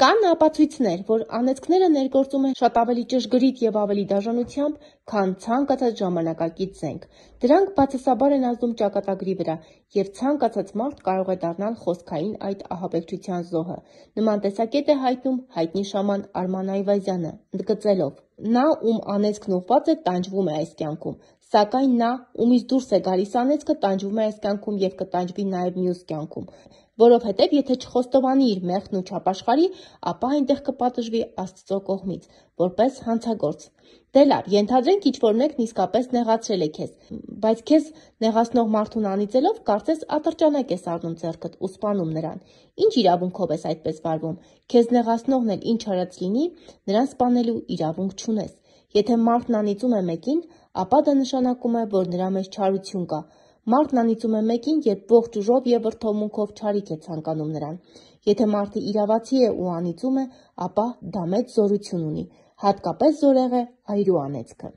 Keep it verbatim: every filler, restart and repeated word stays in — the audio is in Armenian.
Կան ապացույցներ, որ անեծքները ներգործում են շատ ավելի ճշգրիտ և ավելի դաժանությամբ, քան ցանկացած ժամանակակից զենք։ Դրանք բացասաբար են ազդում ճակատագրի վրա, և ցանկացած մարդ կարող է դառնալ խոսքային այդ ահաբեկչության զոհը։ Նման տեսակետ է հայտնում հայտնի շաման Արման Այվազյանը, ընդգծելով. «Նա, ում անեծքն ուղղված է, տանջվում է այս կյանքում, սակայն նա, ումից դուրս է գալիս անեծքը, տանջվում է այս կյանքում և կտանջվի նաև մյուս կյանքում, որովհետև եթե չխոստովանի իր մեղքն ու չապաշխարի, ապա այնտեղ կպատժվի Աստծո կողմից, որպես հանցագործ։ Դե լավ, ենթադրենք ինչ-որ մեկն իսկապես նեղացրել է քեզ, բայց քեզ նեղացնող մարդուն անիծելով, կարծես ատրճանակ ես առնում ձեռքդ ու սպանում նրան։ Ինչ իրավունքով ես այդպես վարվում։ Քեզ նեղացնողն էլ ինչ արած լինի, նրան սպանելու իրավունք չունես։ Եթե մարդն անիծում է մեկին, ապա դա նշանակում է, որ նրա մեջ չարություն կա։ Մարդն անիծում է մեկին, երբ ողջ ուժով և վրդովմունքով չարիք է ցանկանում նրան։ Եթե մարդը իրավացի է ու անիծում է, ապա դա մեծ զորություն ունի, հատկապես զորեղ է այրու անեծքը»։